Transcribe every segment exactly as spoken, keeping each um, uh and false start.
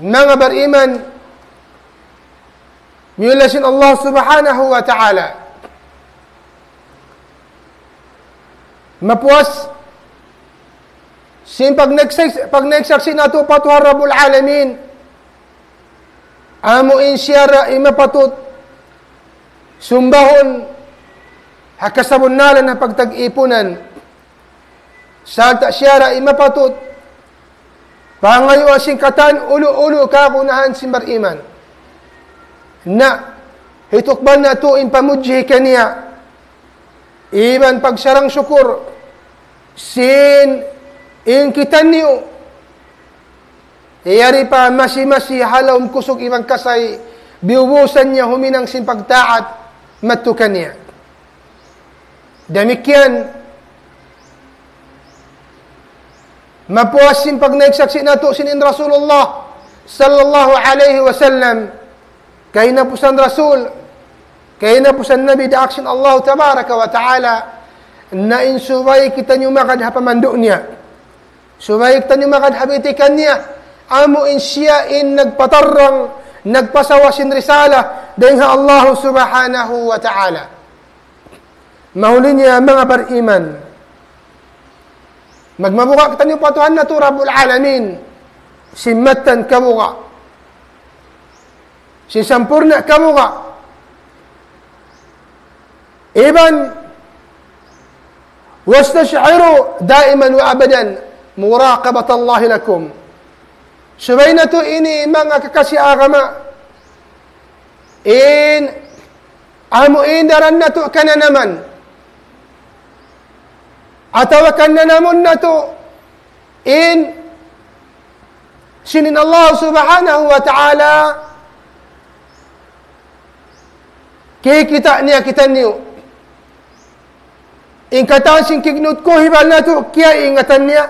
Manga bariman, miyulliya sin Allah Subhanahu wa Ta'ala. Mapuas sin pagnaiksak-, pagnaiksaksi' natu' pa Tuhan Rabbul Alamin. Amu in siya ra in mapatut sumbahun ha kasabunnalan ha pagtag-ipunan. Sarta' siya ra in mapatut pangayuan sin katan ulu-ulu kagunahan sin bariman. Na, hitukbal natu' in pamudji kaniya iban pagsarang-sukur sin in kitaniyu yari pa masi-masi ha lawm kusug iban kasay, biyubusan niya huminang sin pagtaat madtu kaniya. Damikkiyan, mapuas sin pagnaiksaksi' natu' sin in Rasulullah sallallahu alayhi wasallam, kahinapusan Rasul, kahinapusan Nabi daak sin Allah Tabaraka wa Ta'ala, na in subay kitaniyu magad ha pamandu' niya. Subay kitaniyu magad ha bitikan niya, amu in siya in nagpatarrang, nagpasawa sin risala dayn ha Allah Subhanahu wa Ta'ala. Mahuli niya manga bariman, magmabuga' kitaniyu pa Tuhan natu' Rabbul Alamin, sin mattan kabuga', sin sampurna' kabuga'. Iban, واستشعروا دائما وأبدا مراقبة الله لكم. Subay natu' ini manga kakasi agama, in amu in daran natu' kananaman, atawa kananamun natu' in sin in Allah Subhanahu wa Ta'ala kikita' niya kitaniyu. In katan sin kignut kuhibal natu' kiyaingatan niya.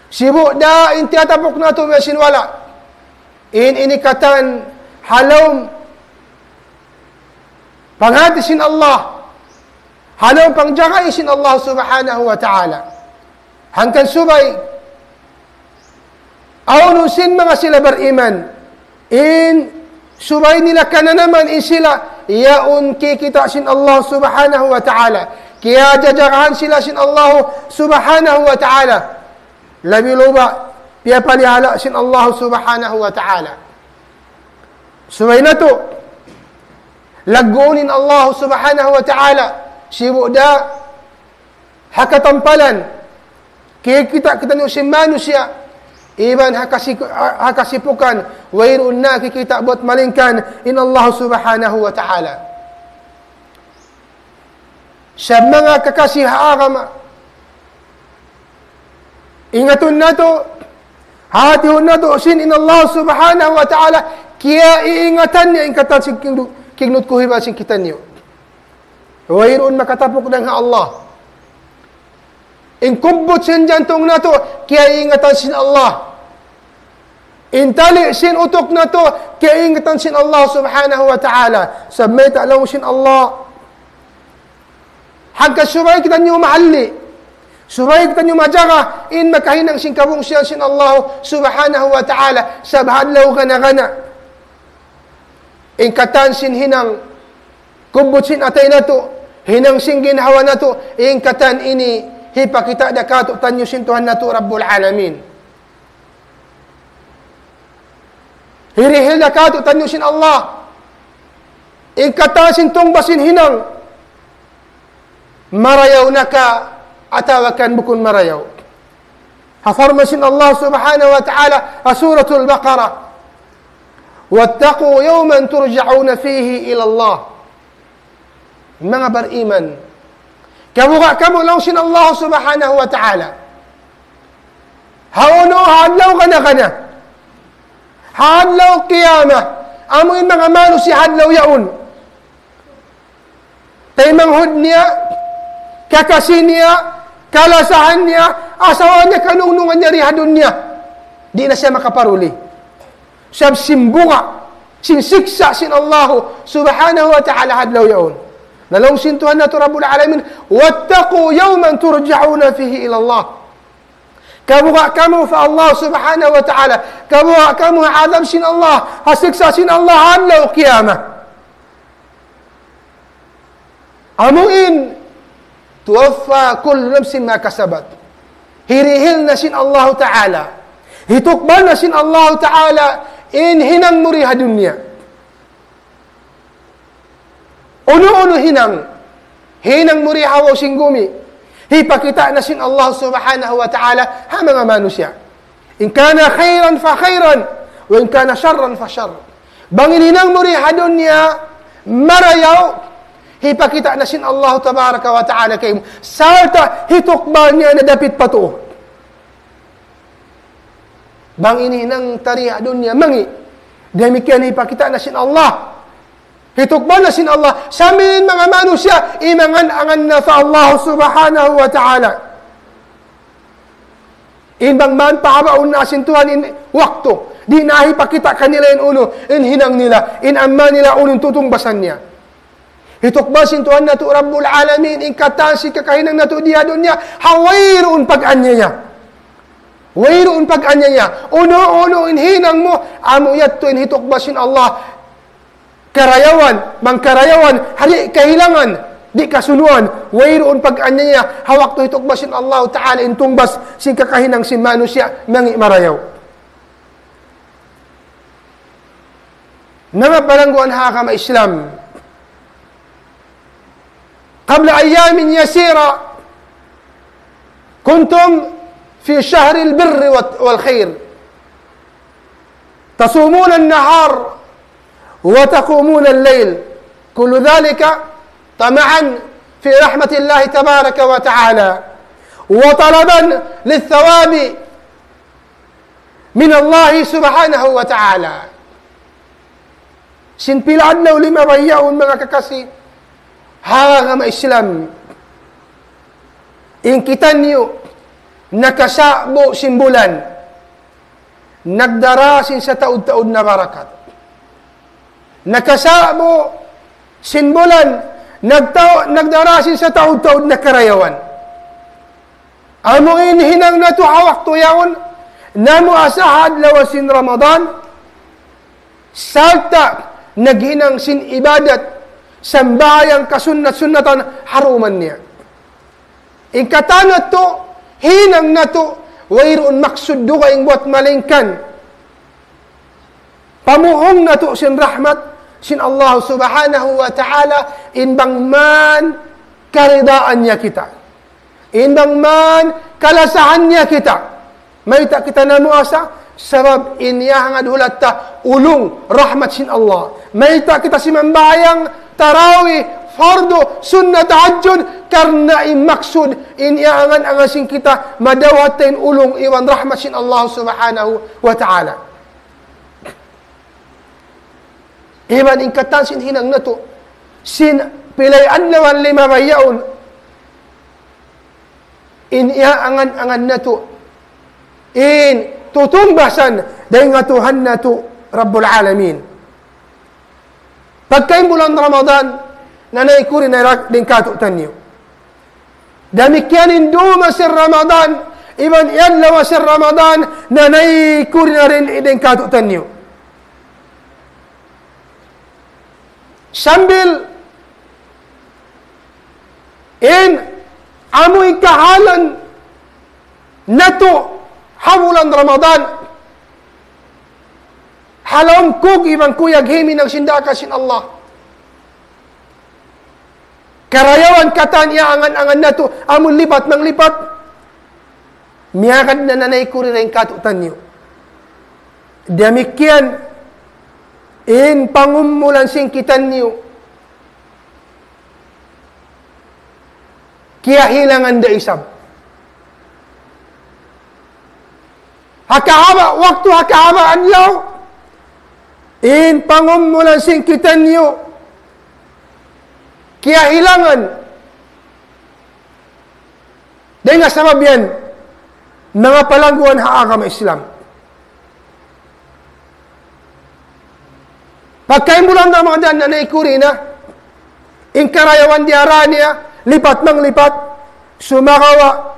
Sibu' da in tiyatapuk natu' biya' sin wala'. In ini katan ha lawm panghati sin Allah, ha lawm pangjagai sin Allah Subhanahu wa Ta'ala. Hangkan subay, awn sin manga sila bariman, in subay nila kananaman in sila, yaun kikita' sin Allah Subhanahu wa Ta'ala. Kiyajajagahan sila sin Allah Subhanahu wa Ta'ala. Labi-labi, piyapalihala' sin Allah Subhanahu wa Ta'ala. Subay natu' lagguun in Allah Subhanahu wa Ta'ala, sibu' da ha katampalan, kikita' kitaniyu sin manusiya', iban ha kasi-, ha kasipukan, wayruun na kikita' buat malaingkan in Allah Subhanahu wa Ta'ala. Sa' manga kakasi ha agama, ingatun natu', hatihun natu', sin in Allah Subhanahu wa Ta'ala, kiyaiingatan niya in katan sin kignu-, kignut kuhibal sin kitaniyu. Wayruun makatapuk dayn ha Allah. In kubbut sin jantung natu', kiyaiingatan sin Allah. In tali sin utuk natu', kiyaiingatan sin Allah Subhanahu wa Ta'ala. Sa' mayta' laung sin Allah. Hangkan subay kitaniyu mahalli'. Subay kitaniyu majaga, in makahinang sin kabungsihan sin Allah Subhanahu wa Ta'ala. Sa' ha adlaw gana-gana. In katan sin hinang kubbut sin atay natu', hinang sin ginhawa natu', in katan ini hipakita' da kātu'niyu sin Tuhan natu' Rabbul Alamin. Hirihil da kātu'niyu sin Allah. In katan sin tungbas sin hinang. Marayaw na ka atawa kan bukun marayaw. Ha parman sin Allah Subhanahu wa Ta'ala, ha Suratul Baqarah, واتقوا يوما ترجعون فيه إلى الله. Manga bariman, kabuga' kamu laung sin Allah Subhanahu wa Ta'ala. Hawnu ha adlaw gana-gana. Ha adlaw qiyamah. Amu in manga manusiya' ha adlaw yaun. Taymanghud niya, kakasi niya, kalasahan niya, asawa niya, kanungnungan niya di ha dunya. Di' na siya makaparuli. Sabab sin buga', sin siksa' sin Allahu Subhanahu wa Ta'ala ha adlaw yaun. Na laung sin Tuhan natu' Rabbul Alamin, واتقوا يوما ترجعون فيه إلى الله. Kabuga' kamu pa Allah subhanahu wa ta'ala. Kabuga' kamu ha adab sin Allah, ha siksa' sin Allah, ha adlaw qiyamah. Amu in, توفى كل نفس ما كسبت. Hirihil na sin Allah ta'ala. Hitukbal na sin Allah ta'ala in hinang mu di ha dunya. Unu-unu hinang, hinang mu di ha babaw sin gumi, hipakita' na sin Allah subhanahu wa ta'ala ha manga manusiya'. إن كان خيرا فخيرا، وإن كان شرا فشر. Bang in hinang mu di ha dunya marayaw, hipakita' na sin Allah tabaraka wa ta'ala kaymu. Sarta' hitukbal niya na dapit pa tuu. Bang in hinang ta di ha dunya mangi', damikkiyan hipakita' na sin Allah. Hitukbal na sin Allah. Sambil in manga manusiya', imangan-angan na pa Allah subhanahu wa ta'ala. In bang man pahabaun na sin Tuhan in waktu, di' na hipakita' kanila in unu in hinang nila, in amal nila unu in tutungbasan niya. Hitukbal sin Tuhan natu' Rabbul Alamin in katan sin kakahinang natu' di ha dunya, ha wayruun pag-anyaya. Wayruun pag-anyaya. Unu-unu in hinang mu, amu yadtu in hitukbal sin Allah. Karayawan, bang karayawan, ha di' kahilangan, di' kasunuan, wayruun pag-anyaya, ha waktu hitukbal sin Allah ta'ala in tungbas sin kakahinang sin manusiya' mangi' marayaw. Manga palangguan ha agama Islam. قبل أيام يسيرة كنتم في شهر البر والت-، والخير. تصومون النهار وتقومون الليل. كل ذلك طمعا في رحمة الله تبارك وتعالى، وطلبا للثواب من الله سبحانه وتعالى. Sin pila adlaw limabay yaun, manga kakasi ha agama Islam. In kitaniyu, nakasa'bu sin bulan, nagdara sin sataud-taud na barakat. Nakasa'bu sin bulan, nagtau-, nagdara sin sataud-taud na karayawan. Amu in hinang natu' ha waktu yaun, namuasa ha adlaw sin Ramadan, sarta' naghinang sin ibadat, sambahayang kasunnat-sunnatan ha dum niya. In katan natu', hinang natu', wayruun maksud dugaing buwat malaingkan pamuhung natu' sin rahmat sin Allah subhanahu wa ta'ala, in bang man karidaan niya kita. In bang man kalasahan niya kita. Mayta' kita namuasa? Sabab in iyahangad hulat ta ulung rahmat sin Allah. Mayta' kita simambahayang tarawih, fardu, sunnat, tahajjud? Karna' in maksud, in iyangan-angan sin kita, madawhat ta in ulung iban rahmat sin Allah subhanahu wa ta'ala. Iban in katan sin hinang natu', sin pilay adlaw limabay yaun, in iyangan-angan natu', in tutungbasan dayn ha Tuhan natu' Rabbul Alamin. Pagka in bulan Ramadan, nanay kuri na rak-, dayn kātu'niyu. Damikkiyan in dūm sin Ramadan, iban in adlaw sin Ramadan, nanay kuri na dayn kātu'niyu. Sambil in amuin kahalan natu' ha bulan Ramadan, ha lawm kug iban kuyag himinang sin daakan sin Allah. Karayawan katan iyangan-angan natu', amun lipat manglipat, miyagad na nanay kuri dayn kātu'niyu. Damikkiyan in pangumulan sin kitaniyu, kiyahilangan da isab. Ha kahaba' waktu, ha kahaba' adlaw, in pangumulan sin kitaniyu, kiyahilangan. Dayn ha sabab yan, manga palangguan ha agama Islam. Pagka in bulan Ramadan nanay kuri na, in karayawan diyara niya, lipat manglipat, sumagawa',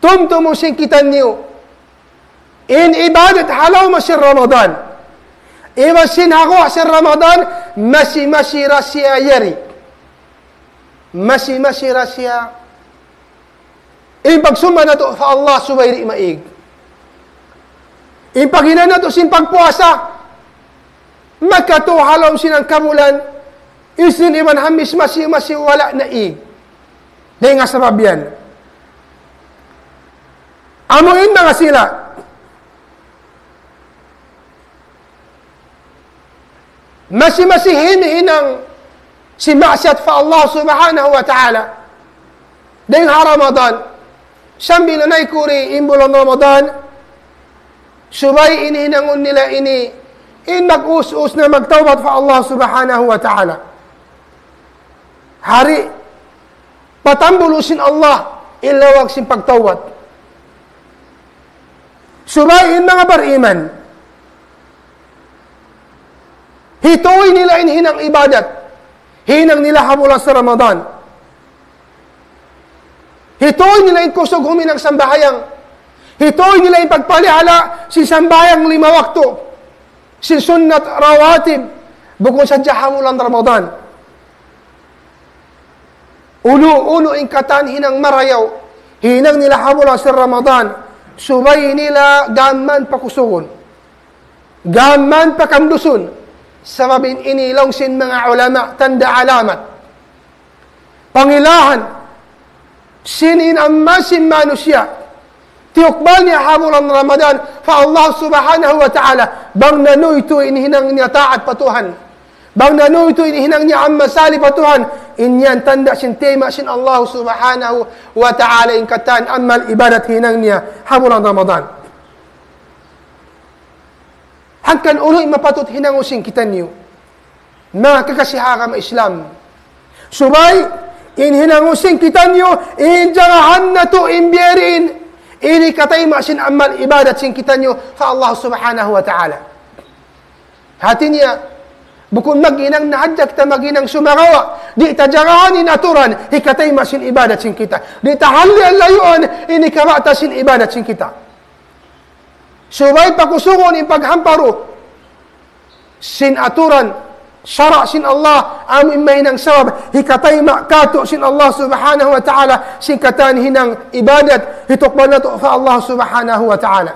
Tumtumun sin kitaniyu in ibadat ha lawm sin Ramadan iban sin ha guwa' sin Ramadan, masi-masi da siya yari. Masi-masi da siya. In pagsumba natu' pa Allah subay di' maig. In paghinang natu' sin pagpuasa, makatu ha lawm sin hangka bulan, Isnin iban Hamis masi-masi wala' naig. Dayn ha sabab yan. Amu in manga sila masi-masi himihinang sin maksiyat pa Allah Subhanahu wa Ta'ala dayn ha Ramadan, sambil na naikuri in bulan Ramadan, subay in hinangun nila ini in mag-us-us na magtawbat pa Allah Subhanahu wa Ta'ala. Hari patambul sin Allah in lawag sin pagtawbat. Subay in manga bariman, hituy nila in hinang ibadat hinang nila ha bulan sin Ramadan. Hituy nila in kusug huminang sambahayang. Hituy nila in pagpalihala sin sambahayang lima waktu, sin sunnat rawatib, bukun sadja ha bulan Ramadan. Unu-unu in katan hinang marayaw hinang nila ha bulan sin Ramadan, subay nila gām pakusugun, gām pakamdusun. Sabab in ini laung sin manga ulama tanda' alamat, pangilahan sin in amal sin manusiya', tiyukbal niya ha bulan Ramadan pa Allah Subhanahu wa Ta'ala, bang nanuytuy in hinang niya taat pa Tuhan, bang nanuytuy in hinang niya amal salih pa Tuhan. In yan tanda' sin tayma' sin Allah Subhanahu wa Ta'ala in katan amal ibadat hinang niya ha bulan Ramadan. Hangkan unu in mapatut hinangun sin kitaniyu, manga kakasi ha agama Islam? Subay in hinangun sin kitaniyu in jagahan natu' in biya' diin in hikatayma' sin amal ibadat sin kitaniyu pa Allah Subhanahu wa Ta'ala. Hati niya, bukun maghinang na hadja kita maghinang sumagawa', di' ta jagahan in aturan hikatayma' sin ibadat sin kita. Di' ta hallian layuan in hikabata' sin ibadat sin kita. Subay pakusugun in paghamparu sin aturan sara' sin Allah, amu in mahinang sabab hikatayma' katu' sin Allah Subhanahu wa Ta'ala sin katan hinang ibadat hitukbal natu' pa Allah Subhanahu wa Ta'ala.